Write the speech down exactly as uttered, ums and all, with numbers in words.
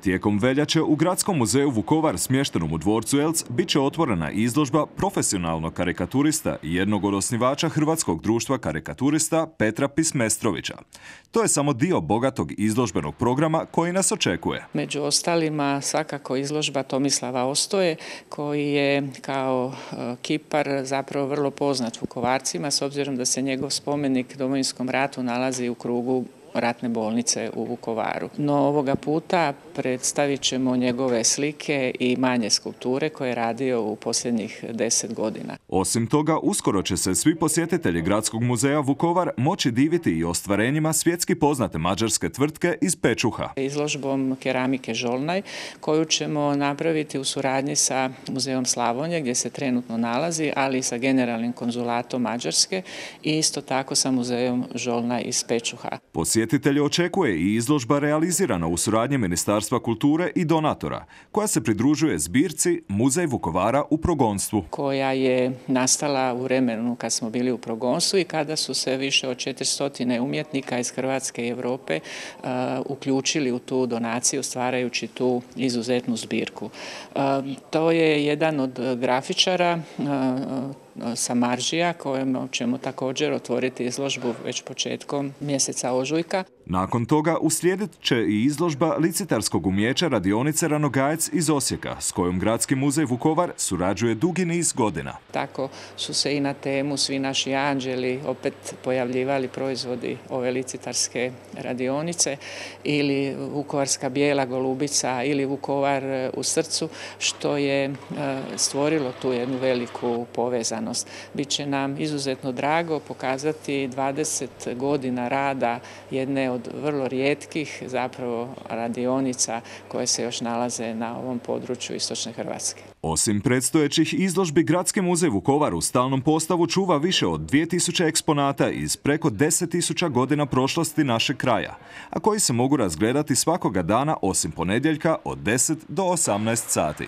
Tijekom veljače u Gradskom muzeju Vukovar smještenom u dvorcu Elc bit će otvorena izložba profesionalnog karikaturista i jednog od osnivača Hrvatskog društva karikaturista Petra Pismestrovića. To je samo dio bogatog izložbenog programa koji nas očekuje. Među ostalima svakako izložba Tomislava Ostoje koji je kao kipar zapravo vrlo poznat Vukovarcima s obzirom da se njegov spomenik Domovinskom ratu nalazi u krugu ratne bolnice u Vukovaru. No ovoga puta predstavit ćemo njegove slike i manje skulpture koje je radio u posljednjih deset godina. Osim toga, uskoro će se svi posjetitelji Gradskog muzeja Vukovar moći diviti i ostvarenjima svjetski poznate mađarske tvrtke iz Pečuha. Izložbom keramike Žolnaj koju ćemo napraviti u suradnji sa Muzejom Slavonije gdje se trenutno nalazi, ali i sa generalnim konzulatom Mađarske i isto tako sa Muzejom Žolnaj iz Pečuha. Posjetitelji očekuje i izložba realizirana u suradnji Ministarstva kulture i donatora, koja se pridružuje zbirci Muzej Vukovara u progonstvu. Koja je nastala u vremenu kad smo bili u progonstvu i kada su se više od četiristo umjetnika iz Hrvatske i Europe uh, uključili u tu donaciju stvarajući tu izuzetnu zbirku. Uh, to je jedan od grafičara uh, Samaržija kojem ćemo također otvoriti izložbu već početkom mjeseca ožujka. Nakon toga uslijedit će i izložba licitarskog umijeća radionice Ranogajec iz Osijeka, s kojom Gradski muzej Vukovar surađuje dugi niz godina. Tako su se i na temu Svi naši anđeli opet pojavljivali proizvodi ove licitarske radionice ili Vukovarska bijela golubica ili Vukovar u srcu, što je stvorilo tu jednu veliku povezanost. Biće nam izuzetno drago pokazati dvadeset godina rada jedne od vrlo rijetkih zapravo radionica koje se još nalaze na ovom području istočne Hrvatske. Osim predstojećih izložbi, Gradski muzej Vukovar u stalnom postavu čuva više od dvije tisuće eksponata iz preko deset tisuća godina prošlosti našeg kraja, a koji se mogu razgledati svakoga dana osim ponedjeljka od deset do osamnaest sati.